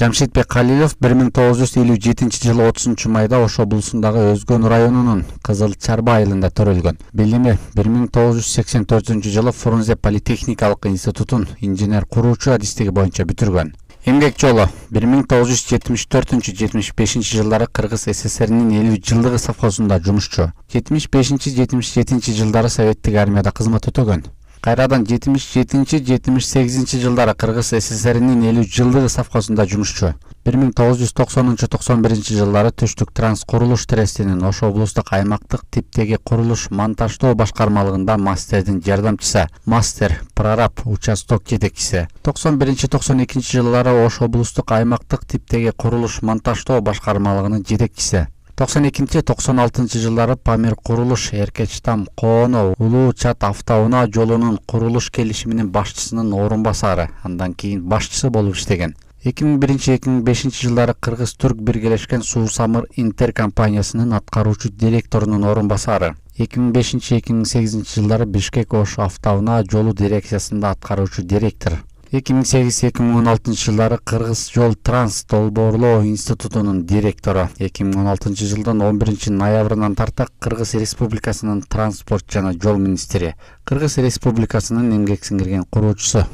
Жамшитбек Калилов 1957-жылы 30-майда Ош облусундагы Өзгөн районунун Кызыл Чарба айылында төрөлгөн. Билими 1984-жылы Фрунзе политехникалык институтун инженер куруучу адистиги боюнча бүтүргөн. Эмгек жолу 1974-75 жылдары Кыргыз СССРинин 50 жылдыгы совхозунда жумушчу. 75-77 жылдары Советтик армияда кызмат өтөгөн. Кайрадан 77-78 жылдары Кыргыз СССРинин 50 жылдыгы совхозунда жумушчу. 1990-91 жылдары Түштүк Транс курулуш трестинин Ош облустук аймактык типтеги курулуш монтаждоо башкармалыгында мастердин жардамчысы, мастер, прораб, участок жетекчиси. 91-92 жылдары Ош облустук аймактык типтеги курулуш монтаждоо башкармалыгынын жетекчиси. 92-96 жылдары Памир курулуш, Эркечтам, Кооно, Улуу Чат автоунаа жолунун курулуш келишиминин башчысынын орун басары, андан кийин башчысы болуп иштеген. 2001-2005 жылдары Кыргыз-Түрк биргелешкен Суу-Самыр Интер компаниясынын аткаруучу директорунун орун басары. 2005-2008 жылдары Бишкек-Ош автоунаа жолу дирекциясында аткаруучу директор. 2008-2016 жылдары Кыргыз жол транс долбоорлоо институтунун директору. 2016 жылдын 11 ноябрынан тарта Кыргыз Республикасынын транспорт жана жол министри, Кыргыз Республикасынын эмгек сиңирген куруучусу.